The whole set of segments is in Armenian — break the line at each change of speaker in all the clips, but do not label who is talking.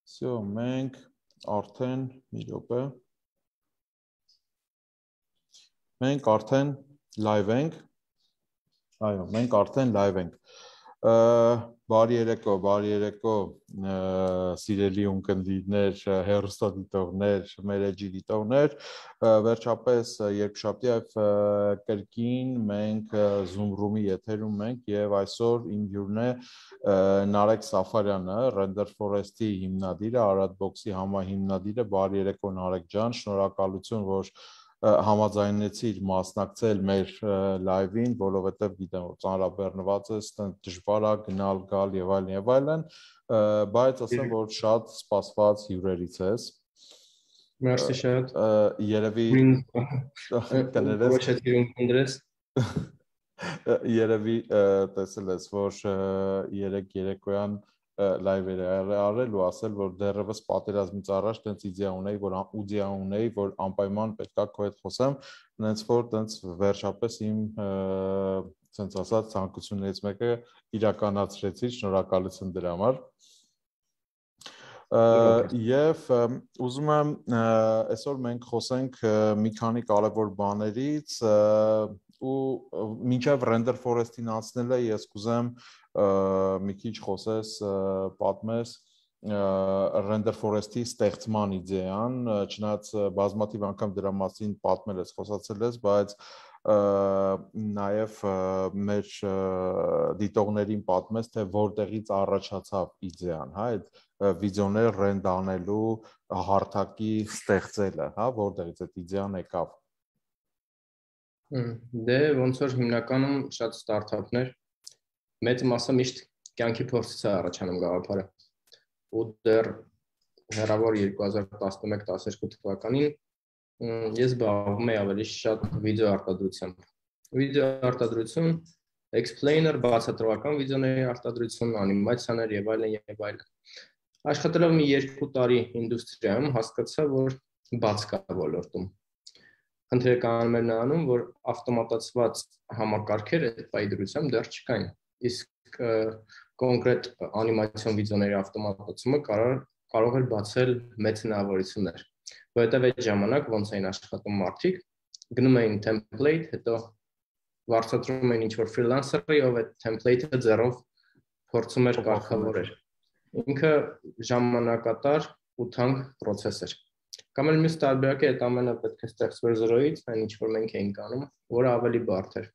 Всё, մենք արդեն մի րոպե։ Մենք արդեն live ենք։ Այո, մենք արդեն live ենք։ Բարի երեկո, սիրելի ունկնդիրներ, հեռուստադիտողներ, մեր էջի դիտողներ, վերջապես երկշաբթի այվ կրկին մենք Zoom room-ի եթերում ենք եւ այսօր իմ հյուրն է Նարեկ Սաֆարյանը, Render Forest-ի հիմնադիրը, Arad-Box-ի համահիմնադիրը, բարի երեկո Նարեկ ջան, շնորհակալություն, որ համաձայնեցիր մասնակցել մեր live-ին, որովհետև գիտեմ, որ ծանրաբեռնված ես, դժվար է գնալ, գալ եւ այլն, բայց ասեմ, որ շատ սպասված հյուրերից ես։
Մերսի շատ։
Երևի Երևի տեսել ես, որ երեք երեկոյան լայվեր արել ու ասել, որ դեռևս պատերազմից առաջ տենց իդեա ունեի, որ անպայման պետքա քո հետ խոսեմ, նենց որ տենց վերջապես իմ ցենց ասած ցանկություններից մեկը իրականացրեցի, շնորհակալություն դրա համար։ Եվ ուզում եմ այսօր մենք խոսենք մի քանի կարևոր բաներից ու մինչև Render Forest-ին անցնելը ես կուզեմ մի քիչ խոսես, պատմես Render Forest-ի ստեղծման իդեան, չնայած բազմաթիվ անգամ դրա մասին պատմել ես, խոսացել ես, բայց նաև մեր դիտողներին պատմես, թե որտեղից առաջացավ իդեան, հա, այդ վիդեոներ ռենդ անելու հարթակի ստեղծելը, հա, որտեղից այդ իդեան եկավ։
Դե ոնց որ հիմնականում շատ ստարտափներ մեծ մասը միշտ կյանքի փորձից է առաջանում գաղափարը։ Ու դեռ հեռավոր 2011-12 թվականին ես զբաղվում էի ավելի շատ վիդեո արտադրությամբ։ Վիդեո արտադրություն, explainer, բացատրական վիդեոների արտադրություն, անիմացիաներ եւ այլն։ Աշխատելով մի 2 տարի ինդուստրիայում հասկացա, որ բաց կա ոլորտում։ Խնդիրը կանում էր նրանում, որ ավտոմատացված համակարգեր այդ պայդրությամբ դեռ չկային։ Իսկ կոնկրետ անիմացիոն վիդեոների ավտոմատացումը կարող էր բացել մեծ հնարավորություններ։ Որովհետև այդ ժամանակ ոնց էին աշխատում մարդիկ, գնում էին template, հետո վարձատրում էին ինչ-որ freelancer-ի, ով այդ template-ը ձեռով փորձում էր կարգավորել։ Ինքը ժամանակատար ու թանկ process էր։ Կամ էլ մյուս տարբերակը այդ ամենը պետք է ստեղծվեր զրոյից, այն ինչ որ մենք էինք անում, որը ավելի բարդ էր։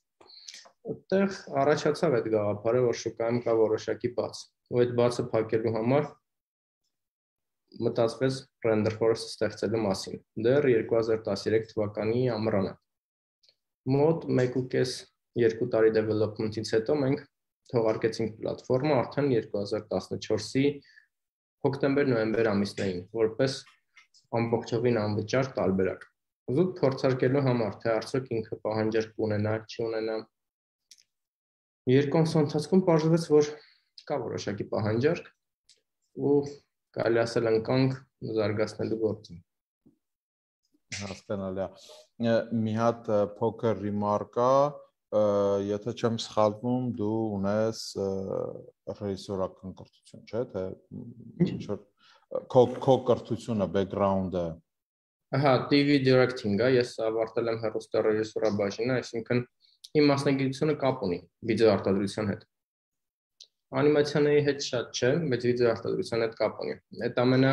Այդտեղ առաջացավ այդ գաղափարը, որ շուկայում կա որոշակի բաց, ու այդ բացը փակելու համար մտածվեց Render Forest ստեղծելու մասին։ Դեռ 2013 թվականի ամռանը։ Մոտ 1.5-2 տարի development-ից հետո մենք թողարկեցինք պլատֆորմը արդեն 2014-ի հոկտեմբեր-նոյեմբեր ամիսներին, որպես ամբողջովին անվճար տարբերակ։ Զուտ փորձարկելու համար, թե արդյոք ինքը պահանջարկ կունենա, չունենա։ Երկու ամսվա ընթացքում պարզվեց, որ կա որոշակի պահանջարկ ու կարելի ասել ընկանք զարգացնելու գործին։
Հասկանալի է։ Մի հատ փոքր ռիմարկա, եթե չեմ սխալվում, դու ունես ռեժիսորական կրթություն, չէ՞, թե քո կրթությունը, background-ը։
Ահա, TV directing-ը, ես ավարտել եմ հեռուստառեժիսուրա բաժինը, այսինքն իմ մասնագիտությունը կապ ունի վիդեո արտադրության հետ։ Անիմացիաների հետ շատ չէ, բայց վիդեո արտադրության հետ կապ ունի։ Այդ ամենը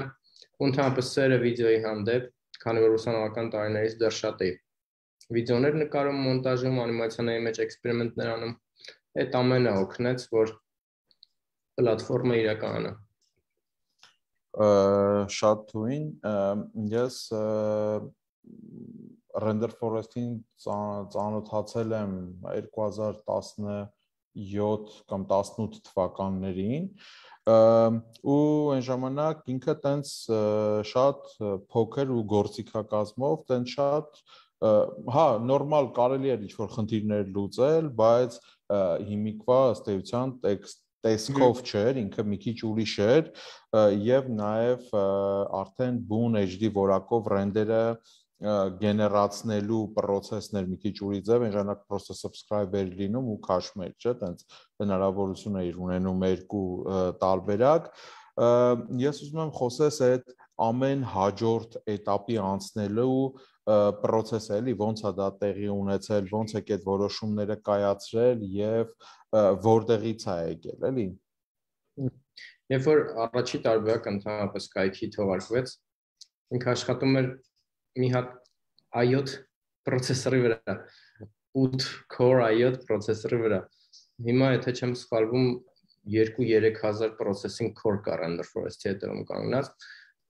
ընդհանրապես սերը վիդեոյի հանդեպ, քանի որ ուսանողական տարիներից դեռ շատ էի վիդեոներ նկարում, մոնտաժում, անիմացիաների մեջ էքսպերիմենտներ անում, այդ ամենը օգնեց, որ պլատֆորմը իրականանա։
Շատ թույն, ես Render Forest-ին ծանոթացել եմ 2017 կամ 18 թվականներին ու այն ժամանակ ինքը տենց շատ փոքր ու գործիքակազմով, տենց շատ հա, նորմալ կարելի էր ինչ-որ խնդիրներ լուծել, բայց հիմիկվա ըստ էության տեսքով չէր, ինքը մի քիչ ուրիշ էր եւ նաեւ արդեն բուն HD որակով ռենդերը գեներացնելու process-ներ մի քիչ ուրի ձև, այն ժամանակ просто subscriber լինում ու cache-մեր, չէ՞, տենց հնարավորություն է ունենում երկու տարբերակ։ Ես ուզում եմ խոսես այդ ամեն հաջորդ этаպի անցնելու process-ը, էլի, ոնց է դա տեղի ունեցել, ոնց եք այդ որոշումները կայացրել եւ որտեղից է եկել, էլի։
Երբ որ առաջի տարբերակը ընդհանրապես կայքի թողարկվեց, ինքը աշխատում էր մի հատ i7 processor-ի վրա, 8 core i7 processor-ի վրա։ Հիմա եթե չեմ սխալվում 2-3000 processing core կա Render Forest-ի հետևում կանգնած,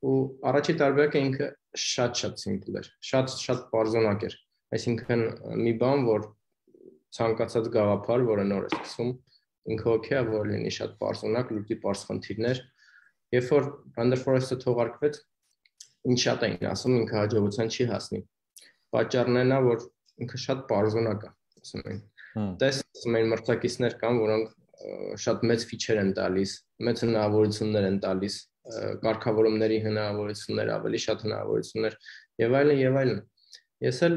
ու առաջի տարբերակը ինքը շատ simple էր, շատ պարզոնակ էր։ Այսինքն մի բան, որ ցանկացած գաղափար, որը նոր է սկսում, ինքը օքեյ է, որ լինի շատ պարզոնակ, լուծի պարզ խնդիրներ։ Երբ որ Render Forest-ը թողարկվեց, ինչ շատ էին ասում, ինքը հաջողության չի հասնի։ Պատճառն է նա, որ ինքը շատ պարզոնակ է, ասում են։ Տես մեր մրցակիցներ կան, որոնք շատ մեծ ֆիչեր են տալիս, մեծ հնարավորություններ են տալիս, կարգավորումների հնարավորություններ, ավելի շատ հնարավորություններ եւ այլն։ Ես էլ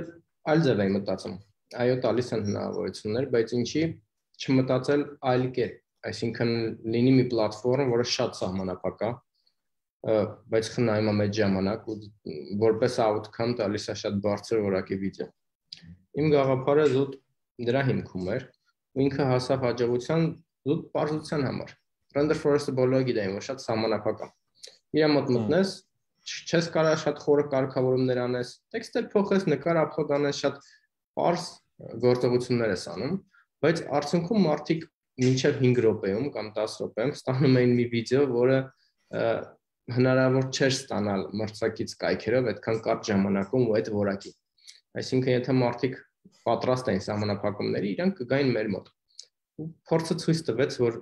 այլ ձև եմ մտածում։ Այո, տալիս են հնարավորություններ, բայց ինչի չմտածել այլ կերպ, այսինքն լինի մի պլատֆորմ, որը շատ սահմանափակ է, բայց խնայում է մեծ ժամանակ ու որպես outcome տալիս է շատ բարձր որակի վիդեո։ Իմ գաղափարը զուտ դրա հիմքում էր, ու ինքը հասավ հաջողության զուտ պարզության համար։ Render Forest-ը բոլորը գիտեն, որ շատ սահմանափակ է։ Իր մոտ մտնես, չես կարող շատ խորը կարգավորումներ անես, տեքստեր փոխես, նկար upload անես, շատ պարզ գործողություններ ես անում, բայց արդյունքում մարդիկ մինչև 5 րոպեում կամ 10 րոպեում ստանում էին մի վիդեո, որը հնարավոր չէր ստանալ մրցակից կայքերով այդքան կարճ ժամանակում ու այդ որակի։ Այսինքն եթե մարդիկ պատրաստ էին սահմանափակումների, իրանք կգային մեր մոտ։ Ու փորձը ցույց տվեց, որ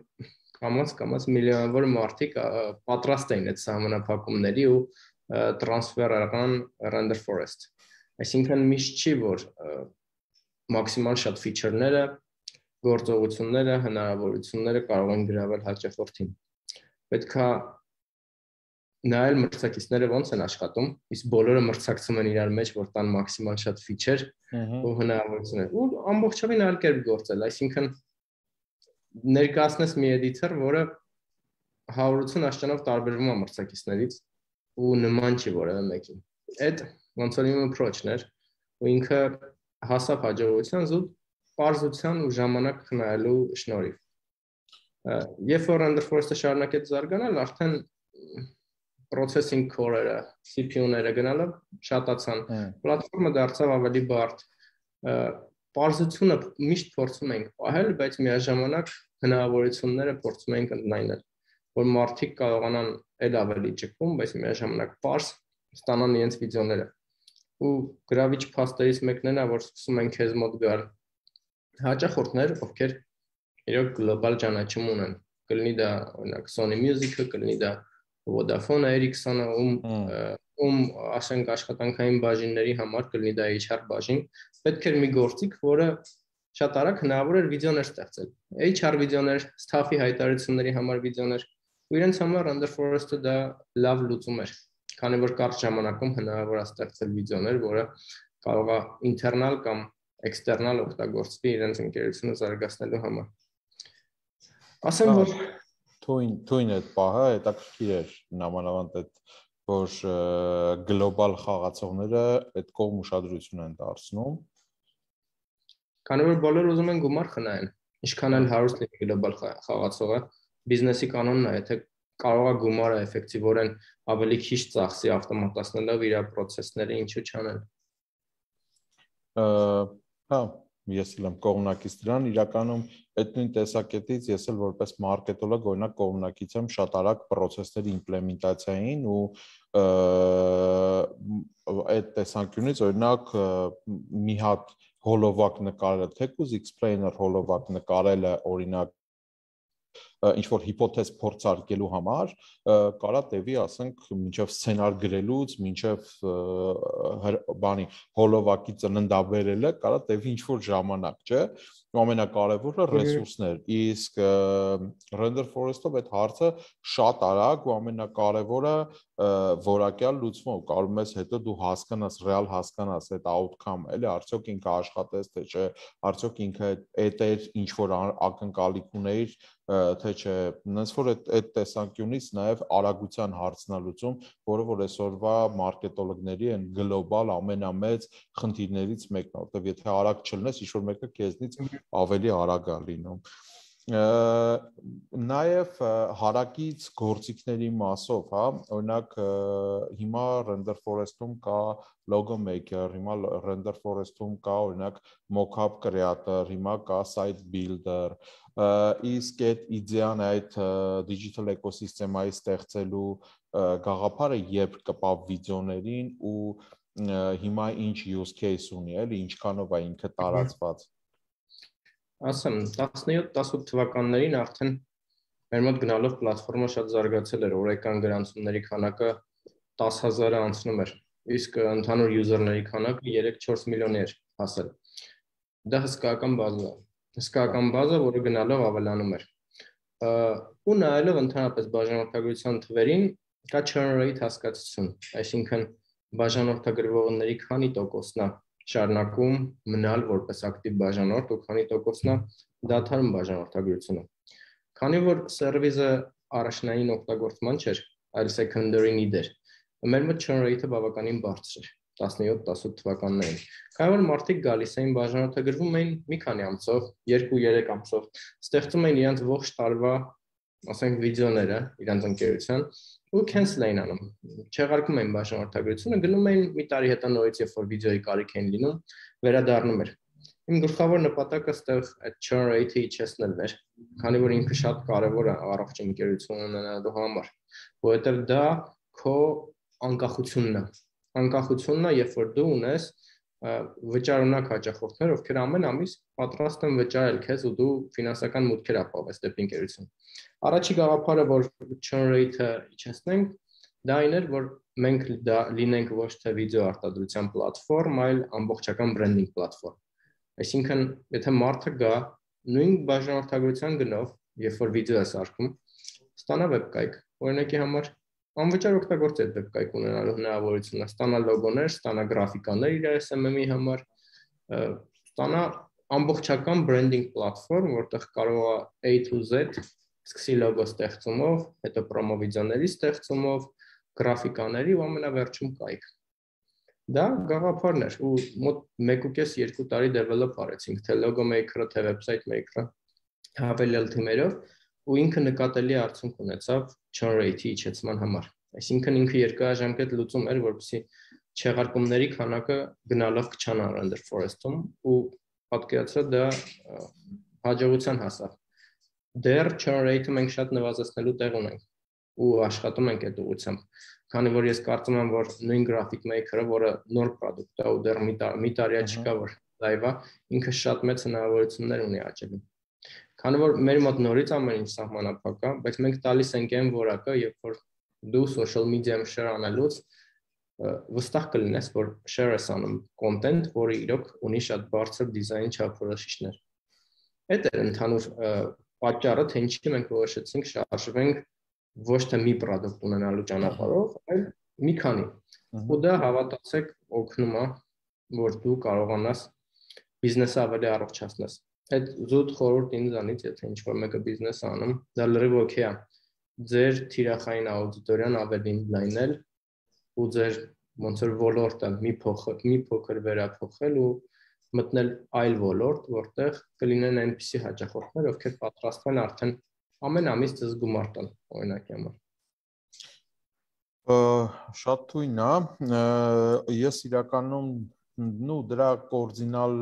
կամաց միլիոնավոր մարդիկ պատրաստ էին այդ սահմանափակումների ու տրանսֆեր արան Render Forest։ Այսինքն միշտ չի, որ մաքսիմալ շատ ֆիչերները, գործողությունները, հնարավորությունները կարող են գրավել հաճախորդին։ Պետք է նայել մրցակիցները ոնց են աշխատում, իսկ բոլորը մրցակցում են իրար մեջ, որ տան մաքսիմալ շատ ֆիչեր ու հնարավորություններ։ Ու ամբողջովին այլ կերպ գործել, այսինքն ներկայացնես մի էդիտոր, որը 100% աշճանով տարբերվում է մրցակիցներից ու նման չի որևէ մեկին։ Այդ ոնց որ իմ approach-ն էր, ու ինքը հասավ հաջողության զուտ պարզության ու ժամանակ խնայելու շնորհիվ։ Երբ որ Render Forest-ը շարունակեց զարգանալ, արդեն processing core-երը, CPU-ները գնալով շատացան, պլատֆորմը դարձավ ավելի բարդ։ Պարզությունը միշտ փորձում ենք պահել, բայց միաժամանակ հնարավորությունները փորձում ենք ընդլայնել, որ մարդիկ կարողանան էլ ավելի ճկվում, բայց միաժամանակ պարզ ստանան իրենց վիդեոները։ Ու գրավիչ փաստերից մեկն է, որ սկսում են քեզ մոտ գալ հաճախորդներ, ովքեր իրոք գլոբալ ճանաչում ունեն։ Կլինի դա օրինակ Sony Music-ը, կլինի դա Vodafone, Ericsson-ը, ում ասենք աշխատանքային բաժինների համար կլինի դա HR բաժին, պետք էր մի գործիք, որը շատ արագ հնարավոր էր վիդեոներ ստեղծել։ HR վիդեոներ, staff-ի հայտարարությունների համար վիդեոներ, ու իրենց համար Render Forest-ը դա լավ լուծում էր, քանի որ կարճ ժամանակում հնարավոր է ստեղծել վիդեոներ, որը կարող է ինտերնալ կամ էքստերնալ օգտագործվի իրենց ընկերությունը զարգացնելու համար։ Ասեմ, որ
Թույն այդ պահը հետաքրքիր էր նամանավանդ այդ, որ գլոբալ խաղացողները այդ կողմ ուշադրություն են դարձնում։
Քանի որ բոլորը ուզում են գումար խնայեն, ինչքան էլ հարուստ լինի գլոբալ խաղացողը, բիզնեսի կանոնն է, եթե կարող է գումարը էֆեկտիվորեն ավելի քիչ ծախսի ավտոմատացնելով իր process-ները, ինչու չանել։
Հա, ես էլ եմ կողմնակից դրան, իրականում այդ նույն տեսակետից ես էլ որպես մարքետոլոգ օրինակ կողմնակից եմ շատ արագ process-ների իմպլեմենտացիային ու այդ տեսանկյունից օրինակ մի հատ հոլովակ նկարելը, թեկուզ explainer հոլովակ նկարելը օրինակ ինչ որ հիպոթեզ փորձարկելու համար կարա տևի, ասենք, մինչև սցենար գրելուց, մինչև բանի հոլովակի ծննդաբերելը կարա տևի ինչ որ ժամանակ, չէ՞։ ամենակարևորը ռեսուրսներ, իսկ render forest-ով այդ հարցը շատ արագ ու ամենակարևորը որակյալ լուծվում, կարող ես հետո դու հասկանաս, ռեալ հասկանաս այդ outcome-ը, էլի արդյոք ինքը աշխատեց թե չէ, արդյոք ինքը այդ ինչ որ ակնկալիք ուներ, թե չէ, նենց որ այդ տեսանկյունից նաև արագության հարցն է լուծում, որը որ այսօրվա մարքետոլոգների են գլոբալ ամենամեծ խնդիրներից մեկն է, որտեղ եթե արագ չլնես, ինչ որ մեկը քեզնից ավելի արագ է լինում։ Նաև հարակից գործիքների մասով, հա, օրինակ հիմա render forest-ում կա logo maker, հիմա render forest-ում կա օրինակ mockup creator, հիմա կա site builder, իսկ այդ իդեան այդ digital ecosystem-այի ստեղծելու գաղափարը երբ կպավ վիդեոներին ու հիմա ինչ use case ունի, էլի ինչքանով է ինքը տարածված։
Ասեմ, 17-18 թվականներին արդեն մեր մոտ գնալով պլատֆորմը շատ զարգացել էր, օրական գրանցումների քանակը 10,000-ը անցնում էր, իսկ ընդհանուր յուզերների քանակը 3-4 միլիոնի էր հասել։ Դա հսկայական բազա, որը գնալով ավելանում էր։ Ու նայելով ընդհանրապես բաժանորդագրության թվերին, կա churn rate հասկացություն, այսինքն բաժանորդագրվողների քանի տոկոսն է շարունակում մնալ որպես ակտիվ բաժանորդ ու քանի տոկոսն է դադարում բաժանորդագրությունը։ Քանի որ սերվիսը առաջնային օգտագործման չէր, այլ secondary need էր, մեր մոտ churn rate-ը բավականին բարձր էր 17-18 թվականներին։ Քանի որ մարդիկ գալիս էին բաժանորդագրվում էին մի քանի ամսով, 2-3 ամսով, ստեղծում էին իրենց ողջ տարվա, ասենք վիդեոները իրենց ընկերության ու cancel էին անում, չեղարկում էին բաժանորդագրությունը, գնում էին մի տարի հետո նորից, երբ որ վիդեոյի կարիք էին լինում, վերադառնում էր։ Իմ գլխավոր նպատակը ստեղ այդ churn rate-ը իջեցնել էր, քանի որ ինքը շատ կարևոր է առողջ ընկերություն ունենալու համար, որովհետև դա քո անկախությունն է։ Անկախությունն է, երբ որ դու ունես վճարունակ հաճախորդներ, ովքեր ամեն ամիս պատրաստ են վճարել քեզ ու դու ֆինանսական մուտքեր ապահովես դեպի ընկերություն։ Առաջի գաղափարը, որ churn rate-ը իջեցնենք, դա այն էր, որ մենք լինենք ոչ թե վիդեո արտադրության պլատֆորմ, այլ ամբողջական branding պլատֆորմ։ Այսինքն, եթե մարդը գա նույն բաժանորդագրության գնով, երբ որ վիդեո է սարքում, ստանա վեբկայք, օրինակի համար անվճար օգտագործի այդ վեբկայք ունենալու հնարավորությունը, ստանա լոգոներ, ստանա գրաֆիկաներ իր SMM-ի համար, ստանա ամբողջական branding պլատֆորմ, որտեղ կարող է A to Z սկսի լոգո ստեղծումով, հետո պրոմո վիդեոների ստեղծումով, գրաֆիկաների ու ամենավերջում կայք։ Դա գաղափարն էր ու մոտ 1.5-2 տարի develop արեցինք, թե logo maker-ը, թե website maker-ը հավելյալ թիմերով ու ինքը նկատելի արդյունք ունեցավ churn rate-ի իջեցման համար։ Այսինքն ինքը երկարաժամկետ լուծում էր, որպեսզի չեղարկումների քանակը գնալով կչանա render forest-ում ու պատկերացրեք դա հաջողության հասավ։ Դեռ churn rate-ը մենք շատ նվազեցնելու տեղ ունենք ու աշխատում ենք այդ ուղղությամբ, քանի որ ես կարծում եմ, որ նույն graphic maker-ը, որը նոր product է ու դեռ մի տարի չկա, որ live է, ինքը շատ մեծ հնարավորություններ ունի աճելու։ Քանի որ մեր մոտ նորից ամեն ինչ սահմանափակ է, բայց մենք տալիս ենք այն որակը, երբ որ դու social media-ում share անելուց վստահ կլինես, որ share ես անում content, որը իրոք ունի շատ բարձր դիզայն չափորոշիչներ։ Այդ է ընդհանուր պատճառը, թե ինչի մենք որոշեցինք շարժվենք ոչ թե մի product ունենալու ճանապարհով, այլ մի քանի։ Ու դա հավատացեք օգնում է, որ դու կարողանաս բիզնեսը ավելի առողջացնես։ Այդ զուտ խորհուրդ ինձանից, եթե ինչ-որ մեկը բիզնես անում, դա լրիվ օքեյ է։ Ձեր թիրախային աուդիտորիան ավելի լայնել ու ձեր ոնց որ ոլորտը մի փոքր վերափոխել ու մտնել այլ ոլորտ, որտեղ կլինեն այնպիսի հաճախորդներ, ովքեր պատրաստ են արդեն ամեն ամիս ձեզ գումար տան, օրինակի համար։
Շատ թույն է, ես իրականում դրա կորձինալ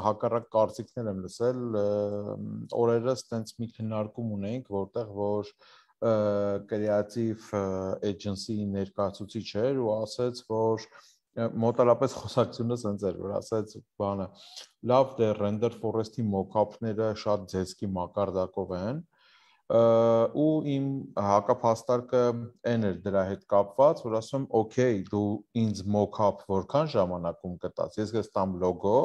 հակառակ կարծիքներ եմ լսել, օրերս տենց մի քննարկում ունենք, որտեղ որ կրեատիվ էջենսի ներկայացուցիչ էր ու ասաց, որ մոտարապես խոսակցությունը սենց էր, որ ասաց բանը, լավ դե render forest-ի mock-up-ները շատ ձեզքի մակարդակով են, ու իմ հակափաստարկը այն էր դրա հետ կապված, որ ասում եմ, օքեյ, դու ինձ mock-up որքան ժամանակում կտաս, ես կստամ լոգո,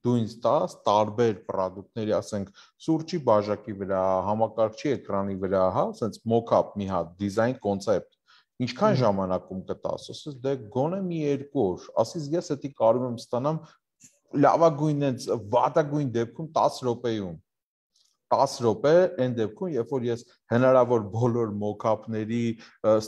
դու ինձ տաս տարբեր պրոդուկտների, ասենք, սուրճի բաժակի վրա, համակարգչի էկրանի վրա, հա, ասենց mock-up մի հատ, դիզայն կոնցեպտ, ինչքան ժամանակում կտաս, ասես դե գոնե մի 2 օր, ասես ես էդի կարող եմ ստանամ լավագույն այնց վատագույն դեպքում 10 րոպեում 10 րոպե այն դեպքում, երբ որ ես հնարավոր բոլոր mock-up-ների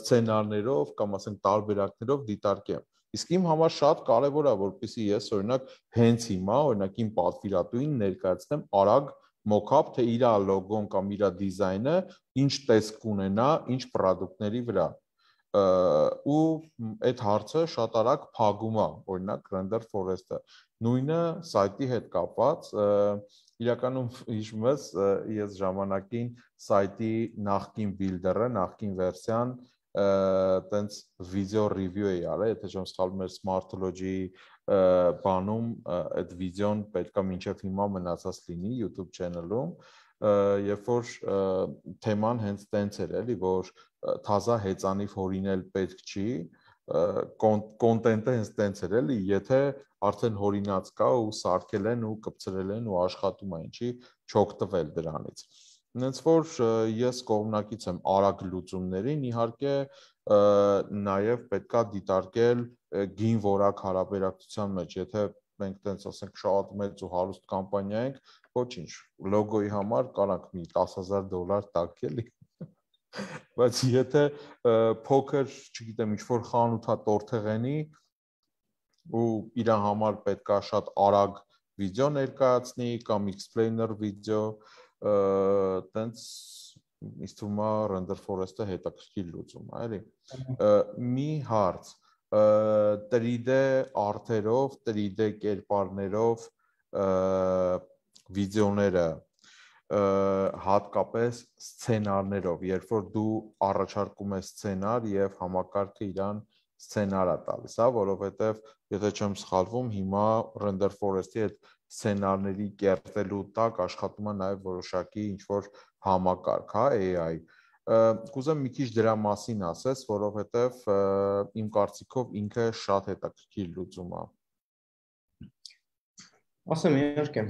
սցենարներով կամ ասենք տարբերակներով դիտարկեմ։ Իսկ իմ համար շատ կարևոր է, որպեսզի ես օրինակ հենց հիմա, օրինակ իմ պատվիրատուին ներկայացնեմ արագ mock-up, թե իր լոգոն կամ իր դիզայնը ինչ տեսք կունենա, ինչ պրոդուկտների վրա։ Ու այդ հարցը շատ արագ փակում է, օրինակ Render Forest-ը։ Նույնը սայթի հետ կապված, իրականում հիշում ես, ես ժամանակին սայթի նախկին բիլդերը, նախկին վերսիան տենց վիդեո ռիվյու էի արել, եթե չեմ սխալվում, մեր Smartology բանում այդ վիդեոն պետքա մինչև հիմա մնացած լինի YouTube channel-ում, երբ որ թեման հենց տենց էր էլի, որ թազա հեծանիվ հորինել պետք չի, կոնտենտը հենց տենց էր էլի, եթե արդեն հորինած կա ու սարքել են ու կպցրել են ու աշխատում է, ինչի չօգտվել դրանից։ Հենց որ ես կողմնակից եմ արագ լուծումներին, իհարկե նաև պետքա դիտարկել գին որակ հարաբերակցության մեջ, եթե մենք տենց ասենք շատ մեծ ու հարուստ կամպանիա ենք, ոչինչ, լոգոյի համար կարանք մի $10,000 տակ էլի, բայց եթե փոքր, չգիտեմ, ինչ-որ խանութա տորթեղենի ու իր համար պետքա շատ արագ վիդեո ներկայացնի կամ explainer վիդեո, տենց ինձ թվում է Render Forest-ը հետաքրքիր լուծում է, էլի։ Մի հարց 3D արթերով, 3D կերպարներով վիդեոները հատկապես սցենարներով, երբ որ դու առաջարկում ես սցենար եւ համակարգը իրան սցենար է տալիս, հա, որովհետեւ եթե չեմ սխալվում, հիմա Render Forest-ի այդ սցենարների կերտելու տակ աշխատում է նաեւ որոշակի ինչ որ համակարգ, հա, AI։ Կուզեմ մի քիչ դրա մասին ասես, որովհետեւ իմ կարծիքով ինքը շատ հետաքրքիր լուծում է։
Ասեմ, իհարկե,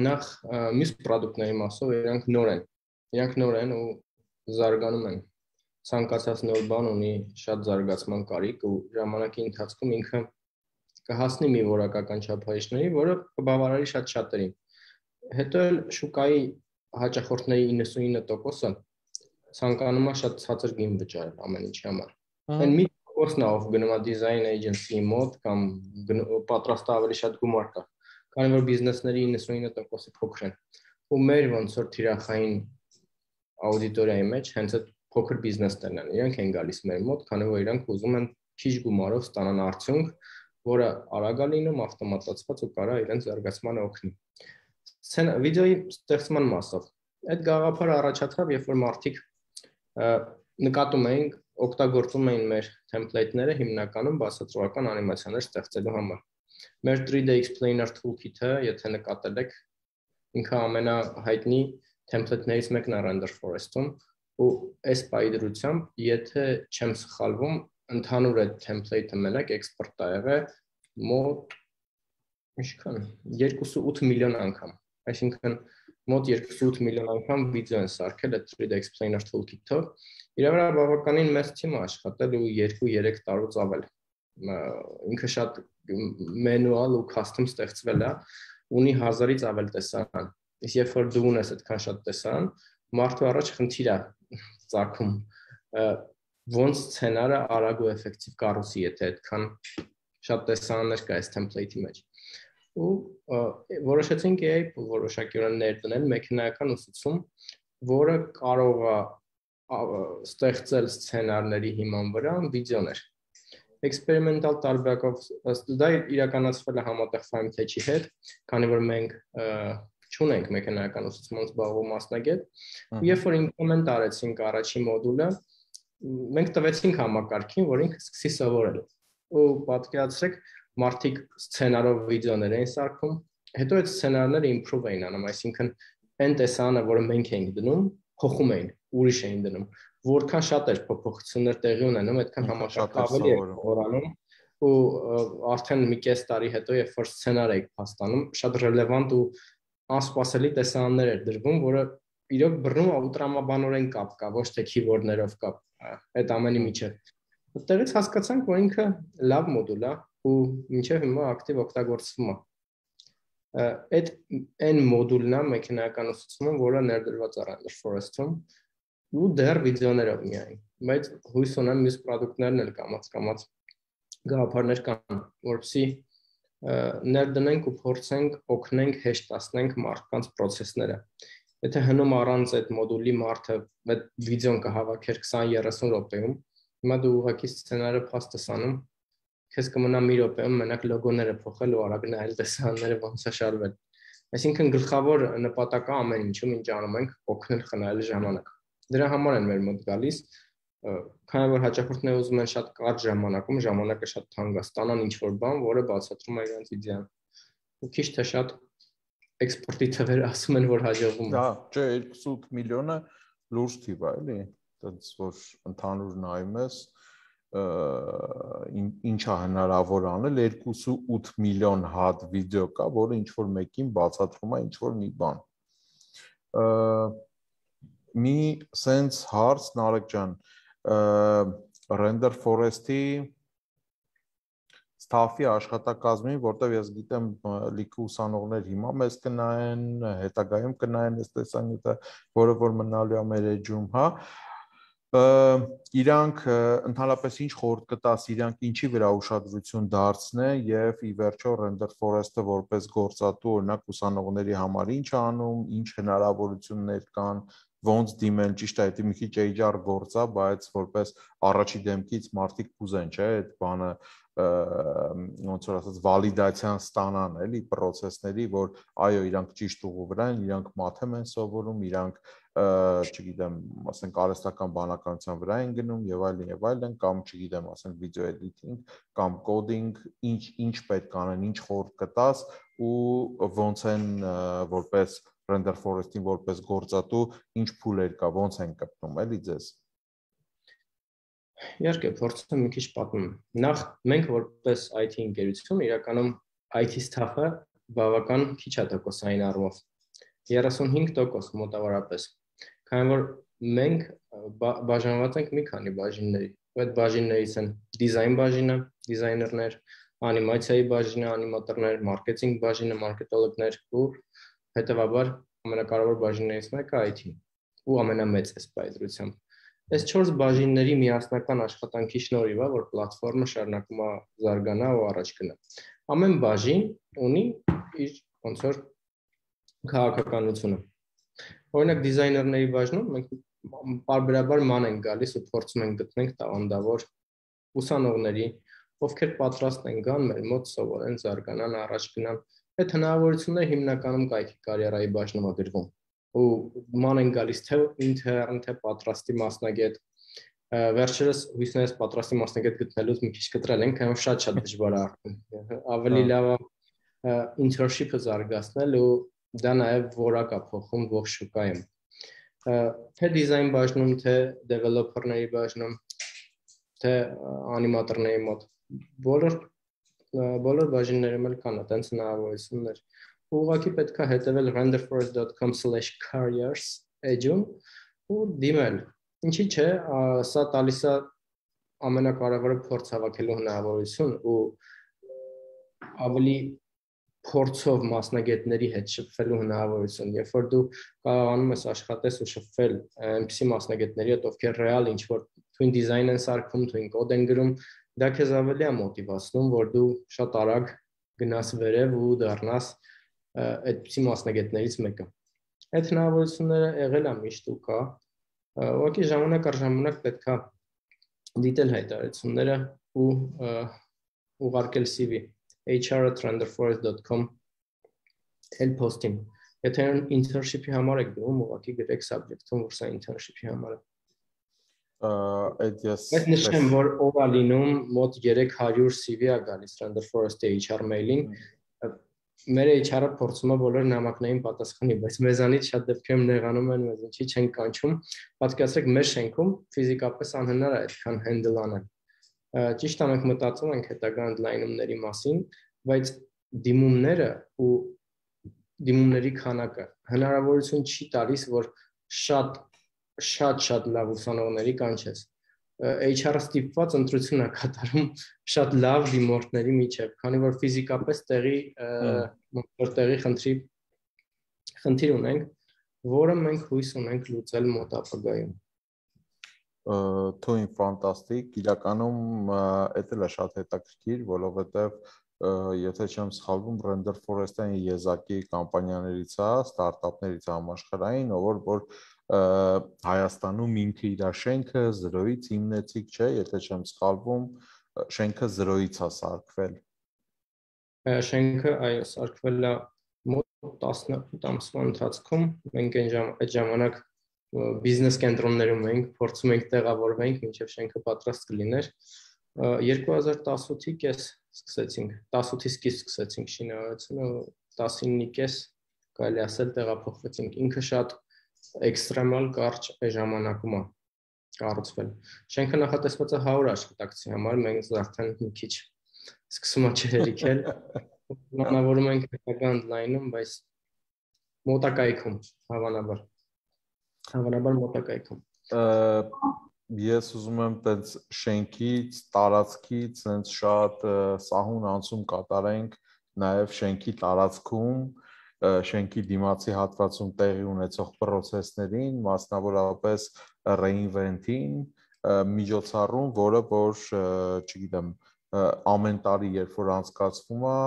նախ մյուս պրոդուկտների մասով իրանք նոր են ու զարգանում են, ցանկացած նոր բան ունի շատ զարգացման կարիք ու ժամանակի ընթացքում ինքը կհասնի մի որակական չափանիշների, որը կբավարարի շատ շատերին։ Հետո էլ շուկայի հաճախորդների 99%-ը ցանկանում է շատ ցածր գին վճարել ամեն ինչի համար։ Այն մի կորսն ով գնում է design agency-ի մոտ կամ պատրաստ ավելի շատ գումար կա, քանի որ բիզնեսների 99%-ը փոքր են։ Ու մեր ոնց որ թիրախային աուդիտորիայի մեջ հենց այդ փոքր բիզնեսներն են, իրանք են գալիս մեր մոտ, քանի որ իրանք ուզում են քիչ գումարով ստանան արդյունք, որը արագ է լինում, ավտոմատացված ու կարա իրենց զարգացմանը օգնի։ Վիդեոյի ստեղծման մասով այդ գաղափարը առաջացավ, երբ որ մարդիկ նկատում էին, օգտագործում էին մեր template-ները հիմնականում բացատրողական անիմացիաներ ստեղծելու համար։ Մեր 3D explainer toolkit-ը, եթե նկատել եք, ինքը ամենահայտնի template-ներից մեկն է Render Forest-ում, ու այս պայդրությամբ, եթե չեմ սխալվում, ընդհանուր այդ template-ը մենակ export է եղել մոտ ինչքան 2.8 միլիոն անգամ, այսինքն մոտ 2.8 միլիոն անգամ վիդեո են սարքել այդ 3D explainer toolkit-ով։ Իրա վրա բավականին մեծ թիմ է աշխատել ու 2-3 տարուց ավել։ Ինքը շատ manual ու custom ստեղծվել է, ունի 1000-ից ավել տեսարան։ Իսկ երբ որ դու ունես այդքան շատ տեսարան, մարդու առաջ խնդիր է ծագում ոնց սցենարը արագ ու էֆեկտիվ կառուցի, եթե այդքան շատ տեսարաններ կա այս template-ի մեջ։ Ու որոշեցինք AI որոշակիորեն ներդնել մեքենայական ուսուցում, որը կարող է ստեղծել սցենարների հիման վրա վիդեոներ։ Էքսպերիմենտալ տարբերակով դա իրականացվել է համատեղ FimeTech-ի հետ, քանի որ մենք չունենք մեքենայական ուսուցման զբաղվող մասնագետ, ու երբ որ implement արեցինք առաջին մոդուլը, մենք տվեցինք համակարգին, որ ինքը սկսի սովորել։ Ու պատկերացրեք, մարդիկ սցենարով վիդեոներ էին սարքում, հետո այդ սցենարները improve էին անում, այսինքն այն տեսարանը, որը մենք էինք դնում, փոխում էին, ուրիշ էին դնում։ Որքան շատ էր փոփոխություններ տեղի ունենում, այդքան համակարգը ավելի է խորանում ու արդեն մի կես տարի հետո երբ որ սցենար եք փաստանում, շատ ռելևանտ ու անսպասելի տեսաններ էր դրվում, որը իրոք բռնում ու տրամաբանորեն կապ կա, ոչ թե քիվորդներով կապ, այդ ամենի միջև։ Այդտեղից հասկացանք, որ ինքը լավ մոդուլ է ու մինչև հիմա ակտիվ օգտագործվում է։ Այդ այն մոդուլն է մեքենայական ուսուցումը, որը ներդրված է Render Forest-ում ու դեռ վիդեոներով միայն, բայց հույս ունեմ մյուս պրոդուկտներն էլ կամաց գաղափարներ կան, որպեսզի ներդնենք ու փորձենք օգնենք հեշտացնենք մարդկանց process-ները։ Եթե հնում առանց այդ մոդուլի մարդը այդ վիդեոն կհավաքեր 20-30 րոպեում, հիմա դու ուղղակի սցենարը փաստես անում, քեզ կմնա մի րոպեում մենակ լոգոները փոխել ու արագ նայել տեսարանները ոնց է շարվել։ Այսինքն գլխավոր նպատակը ամեն ինչում ինչ անում ենք, օգնել խնայել ժամանակ։ Դրա համար են մեր մոտ գալիս, քանի որ հաճախորդները ուզում են շատ կարճ ժամանակում ժամանակը շատ թանկ ստանան ինչ-որ բան, որը բացատրում է իրենց իդեան։ Ու քիչ թե շատ էքսպորտի թվերը ասում են, որ հաջողվում է։
Հա, չէ, 28 միլիոնը լուրջ թիվ է, էլի։ Դից որ ընդհանուր նայում ես, ինչա հնարավոր անել, 28 միլիոն հատ վիդեո կա, որը ինչ-որ մեկին բացատրում է ինչ-որ մի բան։ Մի sense հարց Նարեկ ջան, Render Forest-ի staff-ի աշխատակազմին, որտեղ ես գիտեմ լիքը ուսանողներ հիմա մեզ կնայեն, հետագայում կնայեն այս տեսանյութը, որը որ մնալու է մեր էջում, հա։ Իրանք ընդհանրապես ինչ խորհուրդ կտաս, իրանք ինչի վրա ուշադրություն դարձնեն եւ ի վերջո Render Forest-ը որպես գործատու օրինակ ուսանողների համար ինչ անում, ինչ հնարավորություններ կան, ոնց դիմել, ճիշտ է, դա մի քիչ HR գործ է, բայց որպես առաջի դեմքից մարդիկ կուզեն, չէ, այդ բանը ոնց որ ասած վալիդացիան ստանան, էլի process-ների, որ այո, իրանք ճիշտ ուղու վրա են, իրանք math-եմ են սովորում, իրանք, չգիտեմ, ասենք արհեստական բանականության վրա են գնում եւ այլն, կամ չգիտեմ, ասենք video editing, կամ coding, ինչ պետք անեն, ինչ խորհուրդ կտաս ու ոնց են որպես Render Forest-ին որպես գործատու, ինչ փուլեր կա, ոնց են կպնում, էլի ձեզ։
Իհարկե, փորձում մի քիչ պատմում։ Նախ մենք որպես IT ընկերություն իրականում IT staff-ը բավական քիչ է տոկոսային առումով։ 35% մոտավորապես։ Քանի որ մենք բաժանված ենք մի քանի բաժինների։ Այդ բաժիններից են դիզայն բաժինը, դիզայներներ, անիմացիայի բաժինը, անիմատորներ, մարքեթինգ բաժինը, մարքետոլոգներ ու հետևաբար ամենակարևոր բաժիններից մեկը IT-ն ու ամենամեծ սպայդրությամբ։ Այս 4 բաժինների միասնական աշխատանքի շնորհիվ է, որ պլատֆորմը շարունակում է զարգանա ու առաջ գնա։ Ամեն բաժին ունի իր ոնց որ քաղաքականությունը։ Օրինակ դիզայներների բաժնում մենք պարբերաբար ման ենք գալիս ու փորձում ենք գտնենք տաղանդավոր ուսանողների, ովքեր պատրաստ են գան մեր մոտ սովորեն, զարգանան, առաջ գնան։ Այդ հնարավորությունները հիմնականում կայքի կարիերայի բաժնում է գրվում։ Ու ման են գալիս թե ինտերն, թե պատրաստի մասնագետ, վերջերս հույսներս պատրաստի մասնագետ գտնելուց մի քիչ կտրել ենք, քանի որ շատ դժվար է արդեն։ Ավելի լավ է internship-ը զարգացնել ու դա նաև որակ է փոխում ողջ շուկայում։ Թե դիզայն բաժնում, թե developer-ների բաժնում, թե անիմատորների մոտ բոլոր բաժիններում էլ կան այդպես հնարավորություններ։ Ուղղակի պետք է հետևել renderforest.com/careers էջում ու դիմել։ Ինչի՞ չէ, սա տալիս է ամենակարևորը փորձ հավաքելու հնարավորություն ու ավելի փորձով մասնագետների հետ շփվելու հնարավորություն, երբ որ դու կարողանում ես աշխատես ու շփվել այնպիսի մասնագետների հետ, ովքեր ռեալ ինչ-որ twin design են սարքում, twin code են գրում, դա քեզ ավելի է մոտիվացնում, որ դու շատ արագ գնաս վերև ու դառնաս այդպիսի մասնագետներից մեկը։ Այդ հնարավորությունները եղել է միշտ ու կա։ Ուղղակի ժամանակ առ ժամանակ պետք է դիտել հայտարարությունները ու ուղարկել CV hr@renderforest.com էլ post-ին։ Եթե internship-ի համար եք դիմում, ուղղակի գրեք subject-ում, որ սա internship-ի համար է։ Այդ նշեմ, որ ով է լինում, մոտ 300 CV-ա գալիս Render Forest-ի HR mail-ին։ Մեր HR-ը փորձում է բոլոր նամակներին պատասխանի, բայց մեզանից շատ դեպքերում նեղանում են, մեզ ինչի չեն կանչում։ Պատկերացրեք, մեր շենքում ֆիզիկապես անհնար է այդքան handle անել։ Ճիշտ է, մենք մտածում ենք հետագա ընդլայնումների մասին, բայց դիմումները ու դիմումների քանակը հնարավորություն չի տալիս, որ շատ լավ ուսանողների կանչես։ HR-ը ստիպված ընտրություն է կատարում շատ լավ դիմորդների միջև, քանի որ ֆիզիկապես տեղի խնդիր ունենք, որը մենք հույս ունենք լուծել մոտ ապագայում։
Թույն ֆանտաստիկ, իրականում էդ էլ է շատ հետաքրքիր, որովհետև եթե չեմ սխալվում, Render Forest-ը եզակի կամպանիաներից է, ստարտափներից համաշխարհային, որ Հայաստանում ինքը իր շենքը 0-ից հիմնեցիկ չէ, եթե չեմ սխալվում, շենքը 0-ից է սարքվել։
Շենքը այո, սարքվել է մոտ 18 ամսվա ընթացքում, մենք այդ ժամանակ բիզնես կենտրոններում էինք, փորձում էինք տեղավորվենք, մինչև շենքը պատրաստ կլիներ։ 2018-ի կես սկսեցինք, 18-ի սկիզբ սկսեցինք շինարարությունը, 19-ի կես կարելի ասել տեղափոխվեցինք։ Ինքը շատ էքստրեմալ կարճ ժամանակում է կառուցվել։ Շենքը նախատեսված է 100 աշխատակցի համար, մենք արդեն մի քիչ սկսում է չհերիքել։ Planավորում ենք հետագա ընդլայնում, բայց մոտակայքում, հավանաբար մոտակայքում։
Ես ուզում եմ տենց շենքից, տարածքից հենց շատ սահուն անցում կատարենք նաև շենքի տարածքում, շենքի դիմացի հատվածում տեղի ունեցող պրոցեսներին, մասնավորապես reinvent-ին, միջոցառում, որը որ, չգիտեմ, ամեն տարի երբ որ անցկացվում է,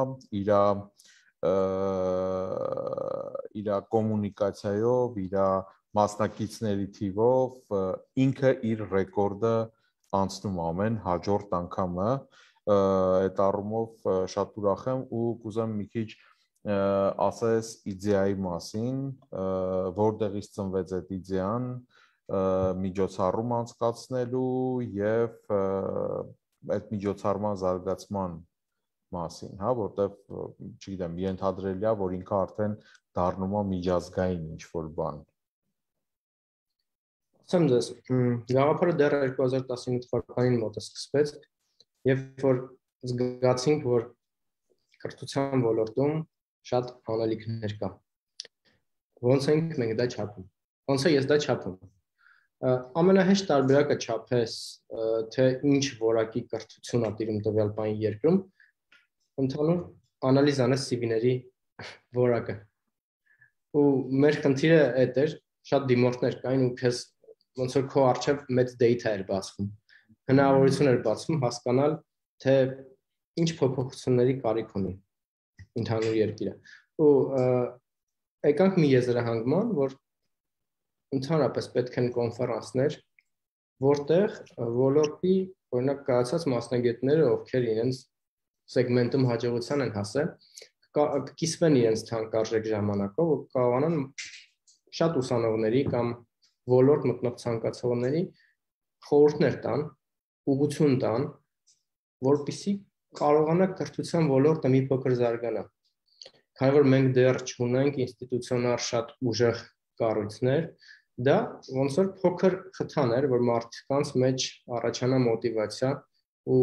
իր կոմունիկացիայով, իր մասնակիցների թիվով ինքը իր ռեկորդը անցնում ամեն հաջորդ անգամը, այդ առումով շատ ուրախ եմ ու կուզեմ մի քիչ ասես իդեայի մասին, որտեղից ծնվեց այդ իդեան, միջոցառում անցկացնելու եւ այդ միջոցառման զարգացման մասին, հա, որտեվ չգիտեմ, ենթադրելի է, որ ինքը արդեն դառնում է միջազգային ինչ-որ բան։
Ասեմ ձեզ, գաղափարը դեռ 2019 թվականին մոտը սկսվեց, երբ որ զգացինք, որ կրթության ոլորտում շատ անելիքներ կա։ Ոնց ենք մենք դա չափում։ Ոնց է ես դա չափում։ Ամենահեշտ տարբերակը չափես, թե ինչ որակի կրթություն է տիրում տվյալ բանի երկրում, ընդհանուր անալիզ անես CV-ների որակը։ Ու մեր խնդիրը այդ էր, շատ դիմորդներ կային ու քեզ ոնց որ քո առջև մեծ data էր բացվում։ Հնարավորություն էր բացվում հասկանալ, թե ինչ փոփոխությունների կարիք ունի ընդհանուր երկիրը։ Ու եկանք մի եզրահանգման, որ ընդհանրապես պետք են կոնֆերանսներ, որտեղ ոլորտի, օրինակ կայացած մասնագետները, ովքեր իրենց սեգմենտում հաջողության են հասել, կկիսվեն իրենց թանկարժեք ժամանակով ու կարողանան շատ ուսանողների կամ ոլորտ մտնող ցանկացողների խորհուրդներ տան, ուղղություն տան, որպեսզի կարողանա կրթության ոլորտը մի փոքր զարգանա։ Քանի որ մենք դեռ չունենք ինստիտուցիոնալ շատ ուժեղ կառույցներ, դա ոնց որ փոքր խթան էր, որ մարդկանց մեջ առաջանա մոտիվացիա ու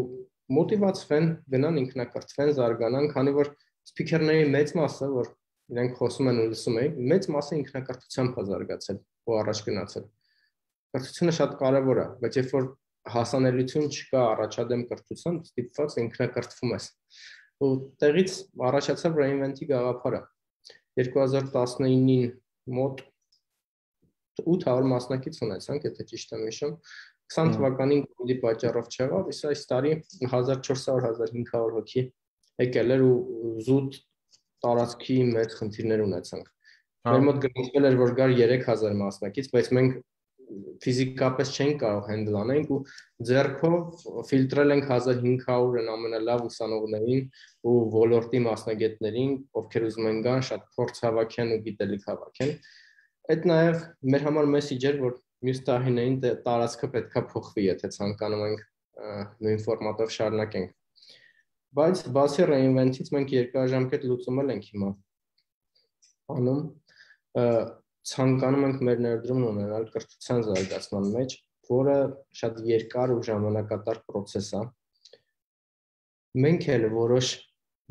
մոտիվացվեն, գնան ինքնակրթվեն, զարգանան, քանի որ սփիքերների մեծ մասը, որ իրենք խոսում են ու լսում են, մեծ մասը ինքնակրթությամբ է զարգացել ու առաջ գնացել։ Կրթությունը շատ կարևոր է, բայց երբ որ հասանելիություն չկա առաջադեմ կրթության, ստիպված ինքնակրթվում ես։ Ու տեղից առաջացավ reinvent-ի գաղափարը։ 2019-ին մոտ 800 մասնակից ունեցանք, եթե ճիշտ եմ հիշում, 20 թվականին COVID-ի պատճառով չեղավ, իսկ այս տարի 1400-1500 հոգի եկել էր ու զուտ տարածքի մեծ խնդիրներ ունեցանք։ Մեր մոտ գնացվել էր, որ գար 3000 մասնակից, բայց մենք ֆիզիկապես չենք կարող հենդլ անենք ու ձեռքով ֆիլտրել ենք 1500-ն ամենալավ ուսանողներին ու ոլորտի մասնագետներին, ովքեր ուզում են գան, շատ փորձ հավաքեն ու գիտելիք հավաքեն։ Այդ նաև մեր համար մեսեջ էր, որ մյուս տարիներին տարածքը պետքա փոխվի, եթե ցանկանում ենք նույն ֆորմատով շարունակենք։ Բայց բացի reinvent-ից մենք երկարաժամկետ լուծում ենք հիմա անում, ցանկանում ենք մեր ներդրումն ունենալ կրթության զարգացման մեջ, որը շատ երկար ու ժամանակատար process է, մենք էլ որոշ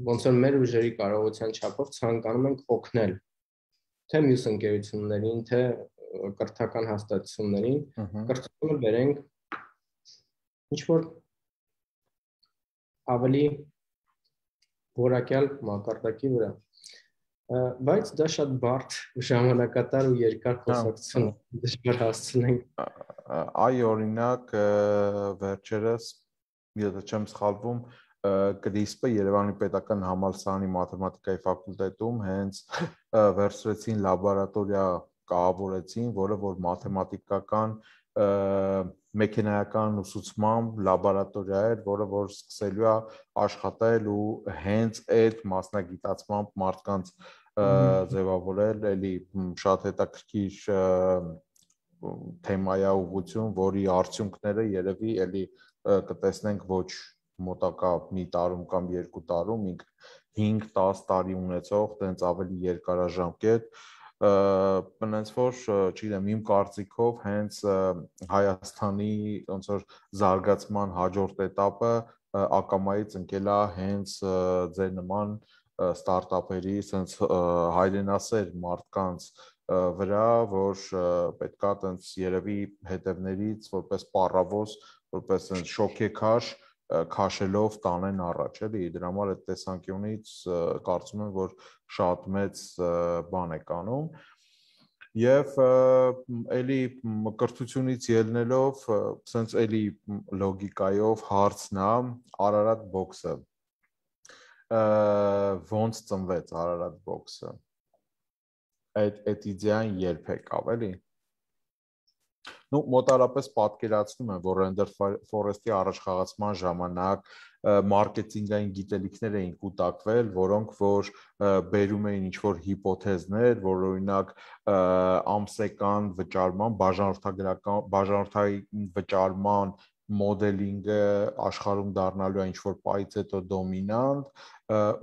ոնց որ մեր ուժերի կարողության չափով ցանկանում ենք օգնել թե մյուս ընկերություններին, թե կրթական հաստատություններին, կրթությունը բերենք ինչ որ ավելի որակյալ մակարդակի վրա։ Բայց դա շատ բարդ ժամանակատար ու երկար խոսակցություն է, դժվար հասցնենք։
Այ օրինակ վերջերս, եթե չեմ սխալվում, CRISP-ը Երևանի Պետական Համալսարանի մաթեմատիկայի ֆակուլտետում հենց վերցրեցին լաբորատորիա կառավարեցին, որը որ մաթեմատիկական մեքենայական ուսուցման լաբորատորիա էր, որը որ սկսելու է աշխատել ու հենց այդ մասնագիտացմամբ մարդկանց ձևավորել, էլի շատ հետաքրքիր թեմայա ուղղություն, որի արդյունքները երևի էլի կտեսնենք ոչ մոտակա մի տարում կամ 2 տարում, 5-10 տարի ունեցող, տենց ավելի երկարաժամկետ, ոնց որ, չգիտեմ, իմ կարծիքով հենց Հայաստանի ոնց որ զարգացման հաջորդ էտապը ակամայից ընկել է հենց ձեր նման ստարտափերի, sense հայրենասեր մարդկանց վրա, որ պետքա տենց երևի հետևներից որպես պառավոս, որպես շոքեքաշ քաշելով տանեն առաջ, էլի դրա համար այդ տեսանկյունից կարծում եմ, որ շատ մեծ բան է կանում եւ էլի կրթությունից ելնելով sense էլի լոգիկայով հարցն է Ararat Box-ը ոնց ծնվեց Ararat Box-ը այդ իդեան երբ եկավ էլի Ну, մոտարապես պատկերացնում եմ, որ Render Forest-ի առաջխաղացման ժամանակ մարքեթինգային գիտելիքներ էին կուտակվել, որոնք որ բերում էին ինչ-որ հիպոթեզներ, որ օրինակ ամսական վճարման, բաժանորդային վճարման մոդելինգը աշխարհում դառնալու է ինչ-որ պայից հետո դոմինանտ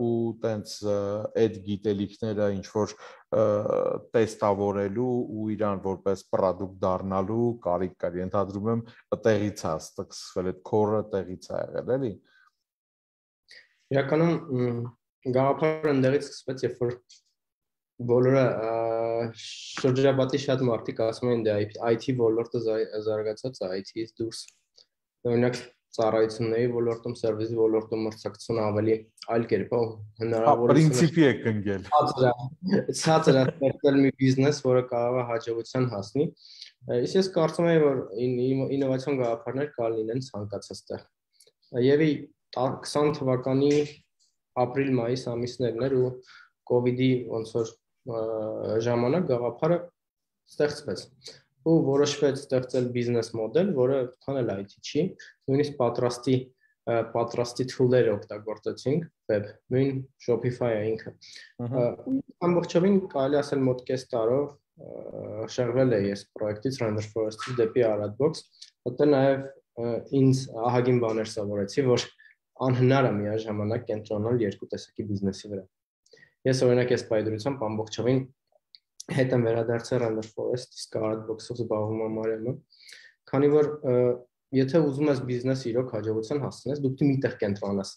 ու տենց այդ գիտելիքները ինչ-որ տեստավորելու ու իրան որպես պրոդուկտ դառնալու կարիք կար, ենթադրում եմ տեղից է սկսվել, այդ core-ը տեղից է եղել, էլի։
Իրականում գաղափարը ընդեղից սկսվեց, երբ որ բոլորը շրջապատի շատ մարդիկ ասում են դե IT ոլորտը զարգացած է, IT-ից դուրս։ Օրինակ ծառայությունների ոլորտում, սերվիսի ոլորտում մրցակցությունը ավելի այլ կերպ է հնարավորություն։
Պրինցիպի է կնգել։
Ցածր է ստեղծել մի բիզնես, որը կարող է հաջողության հասնի։ Իսկ ես կարծում եմ, որ ինովացիոն գաղափարներ կարող լինեն ցանկացած տեղ։ Եվ 20 թվականի ապրիլ-մայիս ամիսներն էր ու COVID-ի ոնց որ ժամանակ գաղափարը ստեղծվեց ու որոշվեց ստեղծել բիզնես մոդել, որը քան էլ IT չի, նույնիսկ պատրաստի tool-եր օգտագործեցինք, web, նույն Shopify-ը ինքը։ Ամբողջովին կարելի ասել մոտ կես տարով շեղվել է ես պրոյեկտից Render Forest-ից դեպի Ararat Box, հետո նաև ինձ ահագին բաներ սովորեցի, որ անհնար է միաժամանակ կենտրոնալ երկու տեսակի բիզնեսի վրա։ Ես օրինակ այս պայծրությամբ ամբողջովին հետ եմ վերադարձել Render Forest, իսկ Ararat Box-ով զբաղվում եմ Մարիամը, քանի որ եթե ուզում ես բիզնես իրոք հաջողության հասցնես, դու պետք է մի տեղ կենտրոնանաս։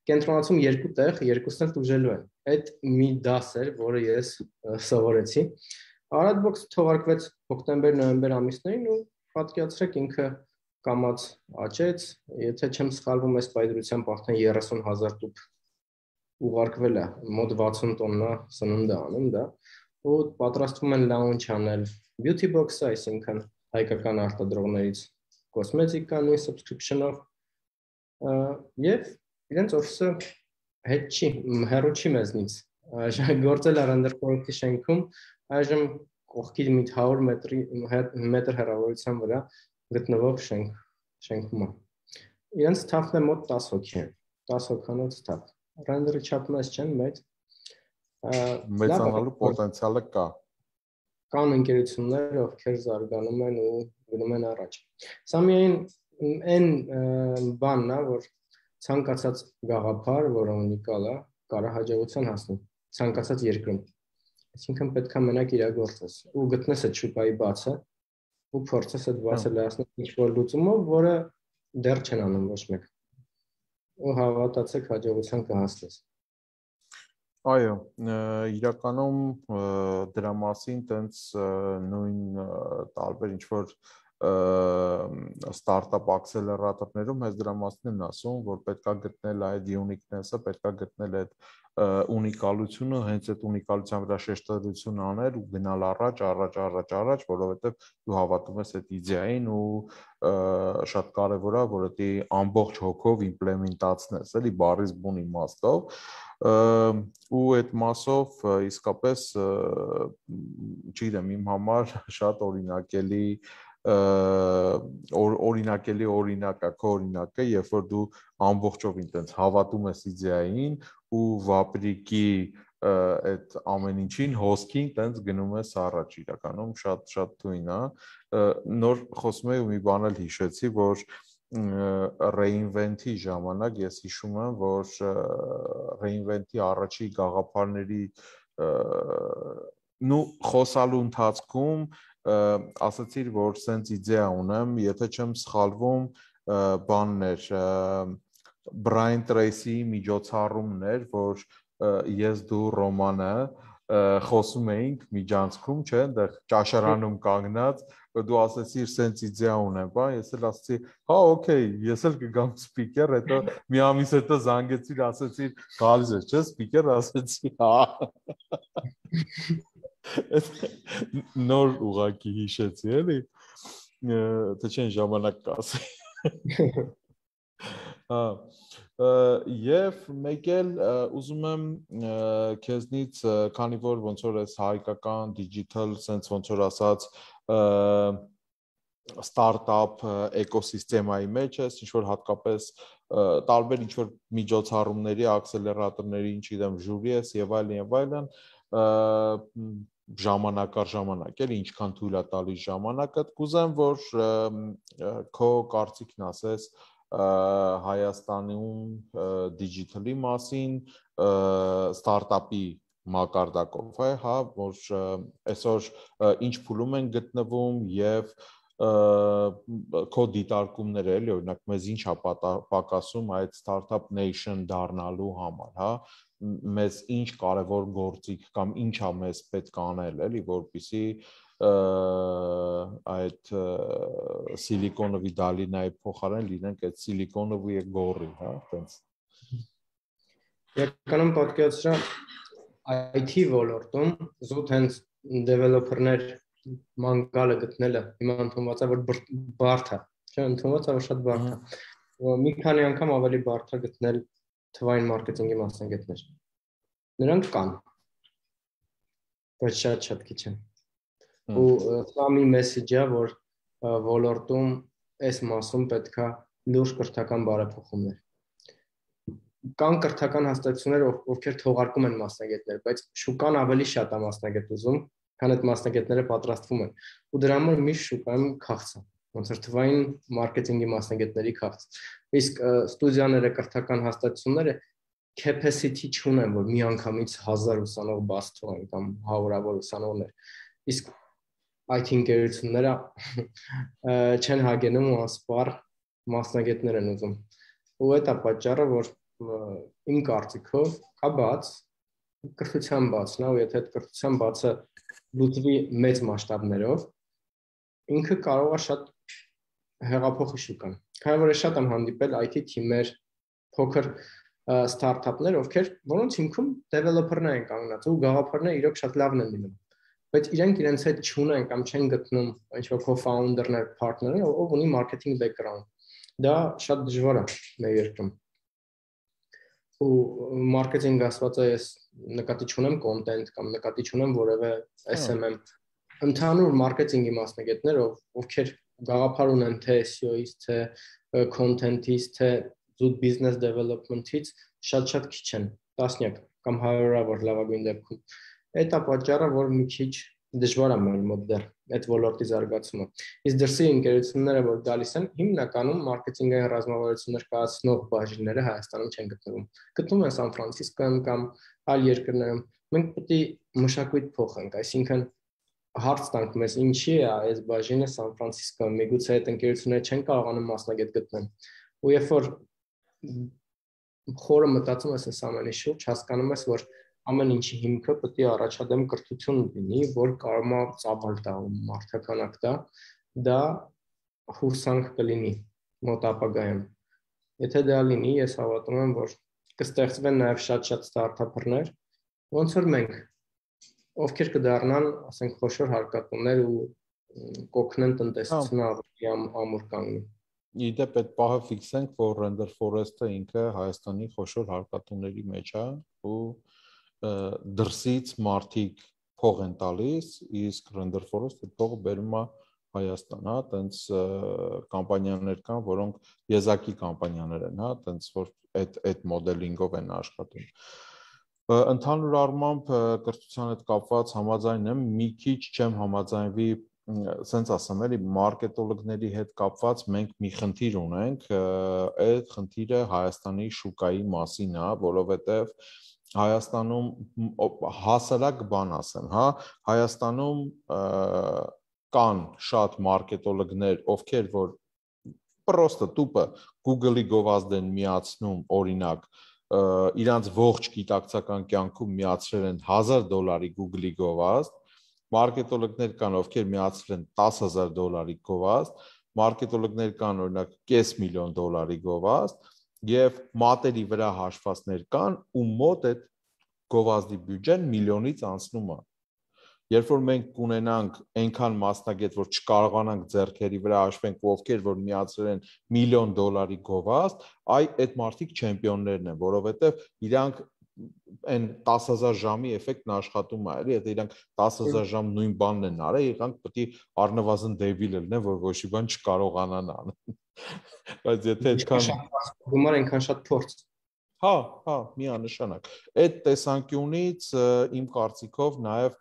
Կենտրոնացում երկու տեղ, երկուսն էլ տուժելու են։ Այդ մի դաս էր, որը ես սովորեցի։ Ararat Box-ը թողարկվեց հոկտեմբեր-նոյեմբեր ամիսներին ու պատկերացրեք ինքը կամած աճեց, եթե չեմ սխալվում, այս պայծրությամբ արդեն 30,000 տուփ ուղարկվել է, մոտ 60 տոննա սնունդ է անում դա, ու պատրաստվում են launch անել beauty box-ը, այսինքն հայկական արտադրողներից կոսմետիկան ու subscription-ով եւ իրենց օֆիսը հետ չի, հեռու չի մեզնից, գործել է Render Forest-ի շենքում, այժմ կողքի մի 100 մետր հեռավորության վրա գտնվող շենքում է։ Իրենց staff-ն է մոտ 10 հոգի է, 10 հոգանոց staff։ Render-ը չափում ես չեն, բայց
մեծանալու պոտենցիալը կա։
Կան ընկերություններ, ովքեր զարգանում են ու գնում են առաջ։ Սա միայն այն բանն է, որ ցանկացած գաղափար, որը ունիկալ է, կարող հաջողության հասնի ցանկացած երկրում։ Այսինքն պետք է մենակ իրագործես ու գտնես այդ շուկայի բացը ու փորձես այդ բացը լայացնել ինչ-որ լուծումով, որը դեռ չեն անում ոչ մեկ։ ու հավատացեք հաջողության կհասնես։
Այո, իրականում դրա մասին տենց նույն տարբեր ինչ-որ ստարտափ ակսելերատորներում հենց դրա մասին են ասում, որ պետքա գտնել այդ uniqueness-ը, պետքա գտնել այդ ունիկալությունը, հենց այդ ունիկալության վրա շեշտադրություն անել ու գնալ առաջ, որովհետև դու հավատում ես այդ իդեային ու շատ կարևոր է, որ դա ամբողջ հոգով իմպլեմենտացնես, էլի բառից բուն իմաստով ու այդ մասով իսկապես չգիտեմ, իմ համար շատ օրինակելի օրինակը, քո օրինակը, երբ որ դու ամբողջովին տենց հավատում ես իդեային ու վապրիկի այդ ամեն ինչին հոսքին տենց գնում ես առաջ, իրականում շատ թույն է։ Նոր խոսում եի ու մի բան էլ հիշեցի, որ reinvent-ի ժամանակ ես հիշում եմ, որ reinvent-ի առաջի գաղափարների խոսալու ընթացքում ասացիր, որ սենց իդեա ունեմ, եթե չեմ սխալվում, բաններ Brian Tracy միջոցառումներ, որ ես դու Ռոմանը խոսում էինք միջանցքում, չէ, այնտեղ ճաշարանում կանգնած, դու ասեցիր սենց իդեա ունեմ, բա, ես էլ ասացի, հա, օքեյ, ես էլ կգամ սպիկեր, հետո մի ամիս հետո զանգեցիր, ասեցիր, գալիս ես, չէ, սպիկեր, ասեցի, հա։ Նոր ուղակի հիշեցի, էլի, թե չեն ժամանակ կասի։ Հա, և մեկ էլ ուզում եմ քեզնից, քանի որ ոնց որ ես հայկական digital, սենց ոնց որ ասած ստարտափ էկոսիստեմայի մեջ ես, ինչ-որ հատկապես տարբեր ինչ-որ միջոցառումների, ակսելերատորների, չգիտեմ, ժյուրի ես և այլն, ժամանակ առ ժամանակ, էլի ինչքան թույլ է տալիս ժամանակը, կուզեմ, որ քո կարծիքն ասես Հայաստանում դիջիտալի մասին, ստարտափի մակարդակով, հա, որ այսօր ինչ փուլում են գտնվում և քո դիտարկումները, էլի, օրինակ, մեզ ինչ է պակասում այդ Startup Nation դառնալու համար, հա, մեզ ինչ կարևոր գործիք կամ ինչ է մեզ պետք անել, էլի, որպեսզի այդ Սիլիկոնովի Դալինայի փոխարեն լինենք այդ Սիլիկոնովի գորի, հա, տենց։
Իրականում պատկերացրա IT ոլորտում զուտ հենց developer-ներ մանգալը գտնելը հիմա ընդունված է, որ բարդ է, չէ, ընդունված է, որ շատ բարդ է։ Մի քանի անգամ ավելի բարդ է գտնել թվային մարքեթինգի մասնագետներ։ Նրանք կան, բայց շատ քիչ են։ Ու սա մի մեսեջը, որ ոլորտում այս մասում պետքա լուրջ կրթական բարեփոխումներ։ Կան կրթական հաստատություններ, ովքեր թողարկում են մասնագետներ, բայց շուկան ավելի շատ է մասնագետ ուզում, քան այդ մասնագետները պատրաստվում են։ Ու դրա համար միշտ շուկայում քաղց է, ոնց որ թվային մարքեթինգի մասնագետների քաղց։ Իսկ ստուդիաները, կրթական հաստատությունները capacity չունեն, որ մի անգամից 1000 ուսանող բաց թողեն կամ հարյուրավոր ուսանողներ։ Իսկ IT ընկերությունները չեն հագենում ու անսպառ մասնագետներ են ուզում։ Ու դա պատճառը, որ իմ կարծիքով կա բաց, կրթության բացն է, ու եթե այդ կրթության բացը լուծվի մեծ մասշտաբներով, ինքը կարող է շատ հեղափոխի շուկան։ Քանի որ ես շատ եմ հանդիպել IT թիմեր, փոքր ստարտափներ, որոնց հիմքում developer-ներ են կանգնած ու գաղափարները իրոք շատ լավն են լինում։ Բայց իրենք իրենց հետ չունեն կամ չեն գտնում ինչ-որ co-founder-ներ, partner-ներ, ով ունի marketing background։ Դա շատ դժվար է մեր երկրում։ Ու marketing ասված է, ես նկատի չունեմ content կամ նկատի չունեմ որևէ SMM։ Ընդհանուր marketing-ի մասնագետներ, ովքեր գաղափար ունեն թե SEO-ից, թե content-ից, թե զուտ business development-ից, շատ քիչ են, տասնյակ կամ հարյուրավոր լավագույն դեպքում։ Այդ է պատճառը, որ մի քիչ դժվար է մեր մոտ դեռ այդ ոլորտի զարգացումը։ Իսկ դրսի ընկերությունները, որ գալիս են, հիմնականում մարքեթինգային ռազմավարություններ կայացնող բաժինները Հայաստանում չեն գտնվում։ Գտնվում են Սան Ֆրանցիսկոյում կամ այլ երկրներում։ Մենք պետք է մշակույթ փոխենք, այսինքն հարց տանք մեզ ինչի է այս բաժինը Սան Ֆրանցիսկոյում, միգուցե այդ ընկերությունները չեն կարողանում մասնագետ գտնել։ Ու երբ որ խորը մտածում ես այս ամենի շուրջ, հասկանում ես, որ ամեն ինչի հիմքը պետք է առաջադեմ կրթություն լինի, որ կարող է ծավալ տա ու մարդականակ տա, դա հուսանք կլինի մոտ ապագայում։ Եթե դա լինի, ես հավատում եմ, որ կստեղծվեն նաև շատ-շատ ստարտափերներ, ոնց որ մենք, ովքեր կդառնան, ասենք, խոշոր հարկատուներ ու կօգնեն տնտեսությունը ավելի ամուր կանգնի։
Իդեպ այդ պահը ֆիքսենք, որ Render Forest-ը ինքը Հայաստանի խոշոր հարկատուների մեջ է ու դրսից մարդիկ փող են տալիս, իսկ Render Forest-ը փողը բերում է Հայաստան, հա, տենց կամպանիաներ կան, որոնք եզակի կամպանիաներ են, հա, տենց որ այդ մոդելինգով են աշխատում։ Ընդհանուր առմամբ կրթության հետ կապված համաձայն եմ, մի քիչ չեմ համաձայնվի, սենց ասեմ, էլի մարքետոլոգների հետ կապված մենք մի խնդիր ունենք, այդ խնդիրը Հայաստանի շուկայի մասին է, որովհետև Հայաստանում հասարակ բան ասեմ, հա, Հայաստանում կան շատ մարքետոլոգներ, ովքեր որ պրոստը տուպը Google-ի գովազդ են միացնում, օրինակ, իրանց ողջ գիտակցական կյանքում միացրել են $1000 Google-ի գովազդ, մարքետոլոգներ կան, ովքեր միացրել են $10,000 գովազդ, մարքետոլոգներ կան, օրինակ, $500,000 գովազդ, եւ մատերի վրա հաշվածներ կան, ու մոտ այդ գովազդի բյուջեն միլիոնից անցնում է։ Երբ որ մենք կունենանք այնքան մասնագետ, որ չկարողանանք ձեռքերի վրա հաշվենք, ովքեր որ միացրել են $1,000,000 գովազդ, այդ մարդիկ չեմպիոններն են, որովհետև իրանք այն 10,000 ժամի էֆեկտն աշխատում է, էլի, եթե իրանք 10,000 ժամ նույն բանն են արել, իրանք պետք է առնվազն դեբիլ լինեն, որ ոչ մի բան չկարողանան անել։ Բայց եթե այդքան
գումար այնքան շատ փորձ
Հա, միանշանակ։ Այդ տեսանկյունից իմ կարծիքով նաև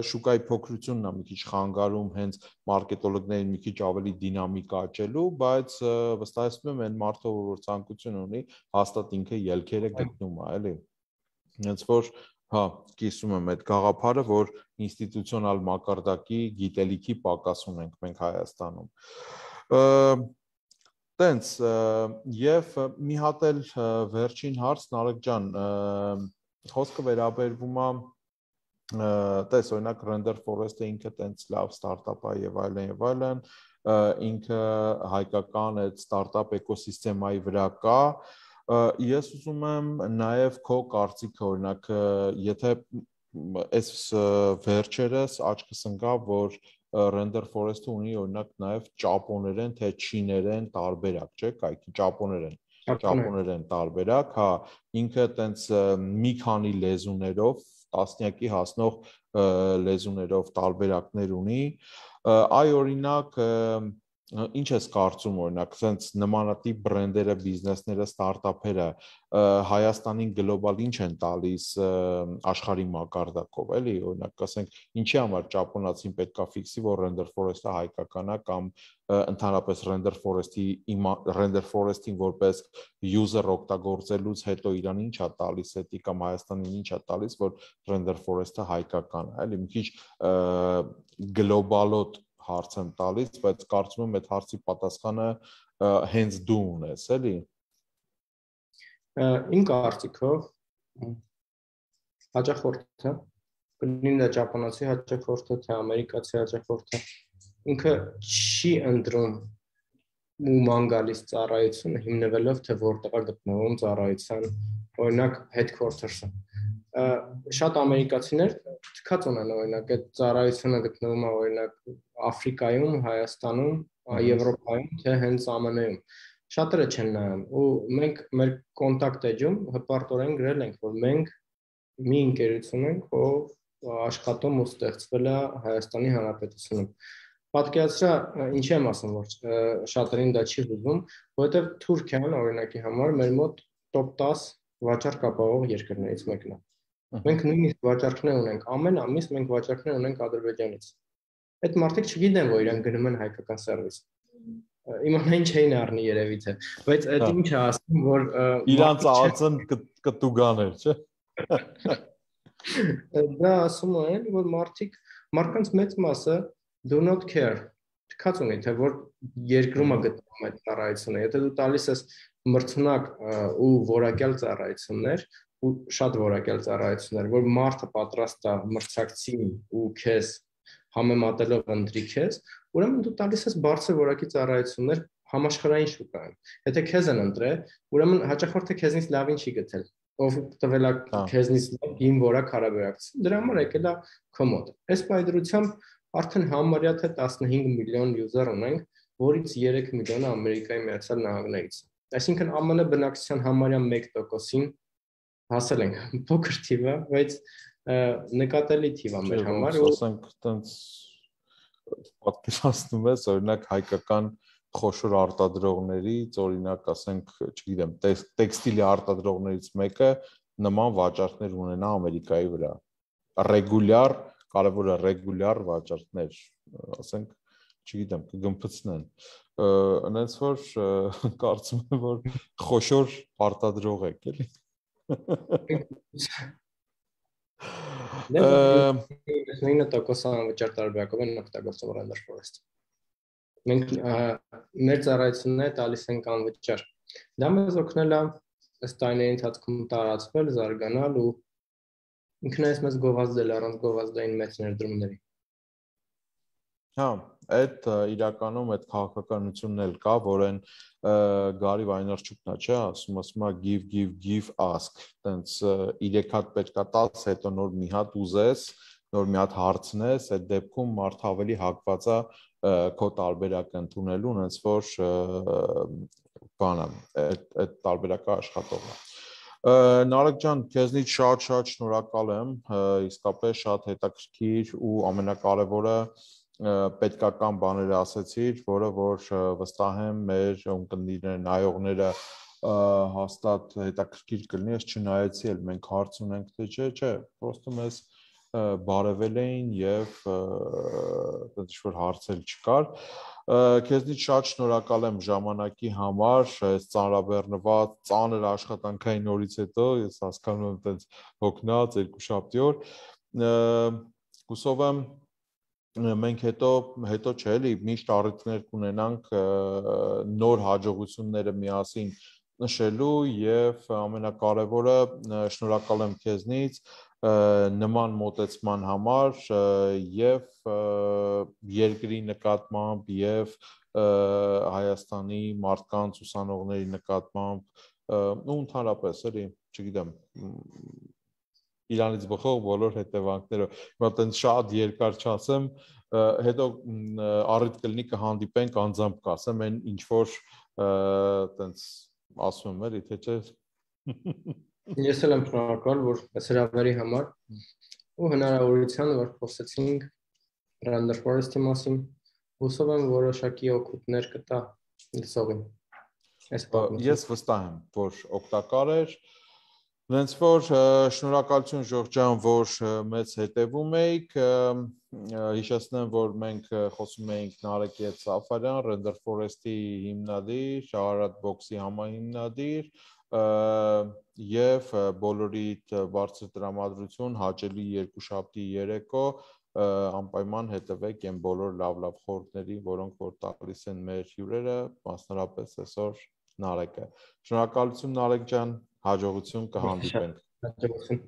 շուկայի փոքրությունն է մի քիչ խանգարում հենց մարքետոլոգներին մի քիչ ավելի դինամիկ աճելու, բայց վստահեցնում եմ այն մարդը, որ ցանկություն ունի, հաստատ ինքը ելքերը գտնում է, էլի։ Հենց որ հա, կիսում եմ այդ գաղափարը, որ ինստիտուցիոնալ մակարդակի գիտելիքի պակաս ունենք մենք Հայաստանում։ Տենց, եւ մի հատ էլ վերջին հարց, Նարեկ ջան, խոսքը վերաբերվում է, տես, օրինակ Render Forest-ը ինքը տենց լավ ստարտափ է եւ այլն, ինքը հայկական այդ ստարտափ էկոսիստեմայի վրա կա, ես ուզում եմ նաեւ քո կարծիքը, օրինակ, եթե այս վերջերս աչքս ընկավ, որ Render Forest-ը ունի օրինակ նաև ճապոներեն, թե չիներեն տարբերակ, չէ՞, կայքի ճապոներեն տարբերակ, հա, ինքը տենց մի քանի լեզուներով, տասնյակի հասնող լեզուներով տարբերակներ ունի, այ օրինակ ինչ ես կարծում, օրինակ, sense նմանատիպ բրենդերը, բիզնեսները, ստարտափերը Հայաստանին գլոբալ ինչ են տալիս աշխարհի մակարդակով, էլի, օրինակ, ասենք, ինչի համար ճապոնացին պետքա ֆիքսի, որ Render Forest-ը հայկական է կամ ընդհանրապես Render Forest-ին որպես user օգտագործելուց հետո իրան ինչ է տալիս, էդի կամ Հայաստանին ինչ է տալիս, որ Render Forest-ը հայկական է, էլի, մի քիչ գլոբալոտ հարց եմ տալիս, բայց կարծում եմ այդ հարցի պատասխանը հենց դու ունես, էլի։
Իմ կարծիքով հաճախորդը, կլինի դա ճապոնացի հաճախորդը, թե ամերիկացի հաճախորդը, ինքը չի ընտրում ու ման գալիս ծառայությունը հիմնվելով, թե որտեղ է գտնվում ծառայության, օրինակ, headquarters-ը։ Շատ ամերիկացիներ թքած ունեն, օրինակ, այդ ծառայությունը գտնվում է, օրինակ, Աֆրիկայում, Հայաստանում, Եվրոպայում, թե հենց ԱՄՆ-ում։ Շատերը չեն նայում, ու մենք մեր կոնտակտ էջում հպարտորեն գրել ենք, որ մենք մի ընկերություն ենք, ով աշխատում ու ստեղծվել է Հայաստանի Հանրապետությունում։ Պատկերացրա, ինչի եմ ասում, որ շատերին դա չի հուզում, որովհետև Թուրքիան, օրինակի համար, մեր մոտ top 10 վաճառք ապահովող երկրներից մեկն է։ Մենք նույնիսկ վաճառքներ ունենք, ամեն ամիս մենք վաճառքներ ունենք Ադրբեջանից։ Այդ մարդիկ չգիտեն, որ իրանք գնում են հայկական սերվիս։ Իմանային չէին առնի երևի թե, բայց այդ ինչ է ասում, որ
իրանց ածն կտուգաներ, չէ։
Դա ասում են, որ մարդկանց մեծ մասը do not care, թքած ունի, թե որ երկրում է գտնվում այդ ծառայությունը։ Եթե դու տալիս ես մրցունակ ու որակյալ ծառայություններ ու շատ որակյալ ծառայություններ, որ մարդը պատրաստ է մրցակցին ու քեզ համեմատելով ընտրի քեզ, ուրեմն դու տալիս ես բարձր որակի ծառայություններ համաշխարհային շուկայում։ Եթե քեզ են ընտրել, ուրեմն հաճախորդը քեզնից լավին չի գտել, ով տվել է քեզնից լավ որակ հարաբերակցություն, դրա համար եկել է քո մոտ։ Այս պայծրությամբ արդեն համարյա թե 15 միլիոն յուզեր ունենք, որից 3 միլիոնը Ամերիկայի Միացյալ Նահանգներից։ Այսինքն ԱՄՆ բնակչության համարյա 1%-ին հասել ենք, փոքր թիվ է, բայց նկատելի թիվ է մեր համար
ու ասենք այտենց պատկերացնում ես օրինակ հայկական խոշոր արտադրողներից, օրինակ ասենք, չգիտեմ, տեքստիլի արտադրողներից մեկը նման վաճառքներ ունենա Ամերիկայի վրա։ Ռեգուլյար, կարևորը ռեգուլյար վաճառքներ, ասենք, չգիտեմ, կգմփցնեն։ Այնպես որ կարծում եմ, որ խոշոր արտադրող եք, էլի։
Դե 9% անվճար տարբերակով են օգտագործում Render Forest։ Մենք մեր ծառայությունները տալիս ենք անվճար։ Դա մեզ օգնել է ըստ տարիների ընթացքում տարածվել, զարգանալ ու ինքնայից մեզ գովազդել առանց գովազդային մեծ ներդրումների։
Հա, այդ իրականում այդ քաղաքականությունն էլ կա, որ այն Գարի Վայներչուկն է, չէ, ասում է give ask, տենց 3 հատ պետքա տաս, հետո նոր մի հատ ուզես, նոր մի հատ հարցնես, այդ դեպքում մարդը ավելի հակված է քո տարբերակը ընդունելու, այնց որ բանը, այդ տարբերակը աշխատող է։ Նարեկ ջան, քեզնից շատ շնորհակալ եմ, իսկապես շատ հետաքրքիր ու ամենակարևորը պետքական բաներ ասեցիր, որը որ վստահ եմ մեր ունկնդիրները, նայողները հաստատ հետաքրքիր կլինի, ես չնայեցի էլ մենք հարց ունենք, թե չէ, պրոստը մեզ բարևել էին եւ ինչ-որ հարցեր չկար։ Քեզնից շատ շնորհակալ եմ ժամանակի համար, այս ծանրաբեռնված ծանր աշխատանքային օրից հետո, ես հասկանում եմ այդպես հոգնած երկու շաբթի օր, հուսով եմ մենք հետո չէ էլի միշտ առիթներ կունենանք նոր հաջողությունները միասին նշելու եւ ամենակարևորը շնորհակալ եմ քեզնից նման մոտեցման համար եւ երկրի նկատմամբ եւ Հայաստանի մարդկանց ուսանողների նկատմամբ ու ընդհանրապես էլի չգիտեմ Իրանից բխող բոլոր հետևանքներով։ Հիմա տենց շատ երկար չասեմ, հետո առիթ կլինի կհանդիպենք անձամբ կասեմ, այն ինչ որ տենց ասում եմ, էլի թե չէ։
Ես էլ եմ շնորհակալ, որ այս հրավերի համար ու հնարավորության, որ խոսեցինք Render Forest-ի մասին, հուսով եմ որոշակի օգուտներ կտա լսողին։
Ես վստահ եմ, որ օգտակար էր։ Հենց որ շնորհակալություն Ժորժ ջան, որ մեզ հետևում եք, հիշեցնեմ, որ մենք խոսում էինք Նարեկի հետ Սաֆարյան, Render Forest-ի հիմնադիր, Շահարատ Box-ի համահիմնադիր եւ բոլորիդ բարձր տրամադրություն, հաճելի երկուշաբթի երեկո անպայման հետևեք այն բոլոր լավ խորհուրդների, որոնք որ տալիս են մեր հյուրերը, մասնավորապես այսօր Նարեկը։ Շնորհակալություն Նարեկ ջան, հաջողություն կհանդիպենք։
Հաջողություն։